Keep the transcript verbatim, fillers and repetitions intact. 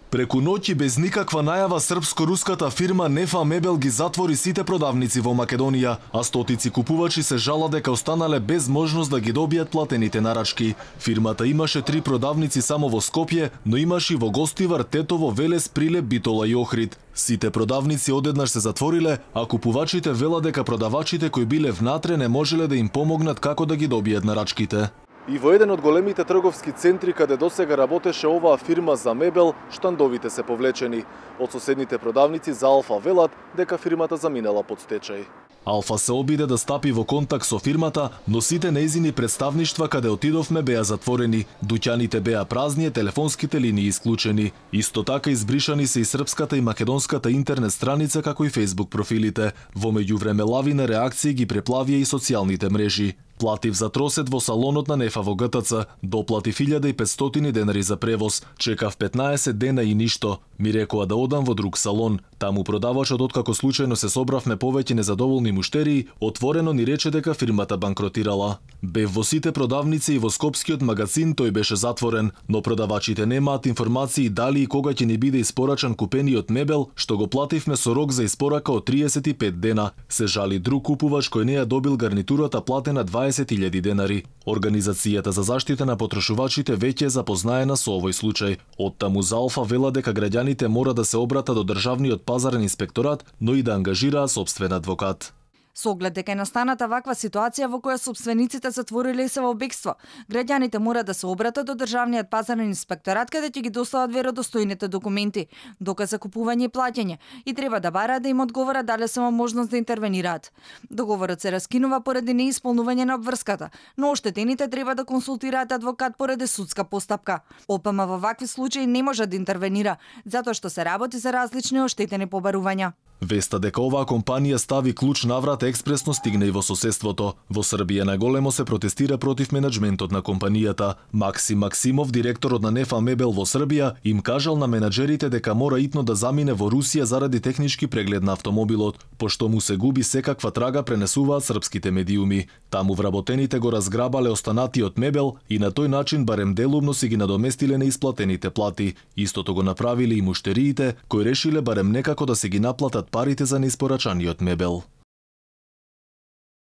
Преку ноќ и без никаква најава српско-руската фирма Нефа Мебел ги затвори сите продавници во Македонија, а стотици купувачи се жала дека останале без можност да ги добијат платените нарачки. Фирмата имаше три продавници само во Скопје, но имаше и во Гостивар, Тетово, Велес, Прилеп, Битола и Охрид. Сите продавници одеднаш се затвориле, а купувачите велат дека продавачите кои биле внатре не можеле да им помогнат како да ги добијат нарачките. И во еден од големите трговски центри каде досега работеше оваа фирма за мебел, штандовите се повлечени. Од соседните продавници за Алфа велат дека фирмата заминала под стечај. Алфа се обиде да стапи во контакт со фирмата, но сите нејзини представништва каде отидовме беа затворени, дуќаните беа празни, телефонските линии исклучени. Исто така избришани се и српската и македонската интернет страница како и Facebook профилите. Во меѓувреме лавина реакции ги преплавија и социјалните мрежи. Платив за тросет во салонот на Нефа во ГТЦ, доплатив илјада и петстотини денари за превоз, чекав петнаесет дена и ништо. Ми рекоа да одам во друг салон. Таму продавачот, откако случајно се собравме повеќе незадоволни муштерии, отворено ни рече дека фирмата банкротирала. Бев во сите продавници и во скопскиот магазин, тој беше затворен, но продавачите немаат информации дали и кога ќе ни биде испорачан купениот мебел, што го плативме со рок за испорака од триесет и пет дена. Се жали друг купувач кој не ја добил гарнитурата платена дваесет илјади денари. Организацијата за заштита на потрошувачите веќе е запознаена со овој случај. Оттаму за Алфа вела дека граѓаните мора да се обратат до државниот пазарен инспекторат, но и да ангажираа сопствен адвокат. Со оглед дека е настаната ваква ситуација во која сопствениците затвориле и се во бегство, граѓаните мора да се обратат до државниот пазарен инспекторат каде ќе ги достават веродостојните документи, доказ за купување и плаќање, и треба да бараат да им одговорат дали се во можност да интервенираат. Договорот се раскинува поради неисполнување на обврската, но оштетените треба да консултираат адвокат поради судска постапка. ОПМ во вакви случаи не може да интервенира, затоа што се работи за различни оштетени побарувања. Веста дека оваа компанија стави клуч наврат експресно стигна и во соседството. Во Србија наголемо се протестира против менаџментот на компанијата. Максим Максимов, директорот на Нефа Мебел во Србија, им кажал на менаџерите дека мора итно да замине во Русија заради технички преглед на автомобилот, пошто му се губи секаква трага, пренесуваат српските медиуми. Таму вработените го разграбале останатиот мебел и на тој начин барем делумно си ги надоместиле неисплатените плати. Истото го направиле и муштериите, кои решиле барем некако да се ги наплатат парите за неиспорачаниот мебел.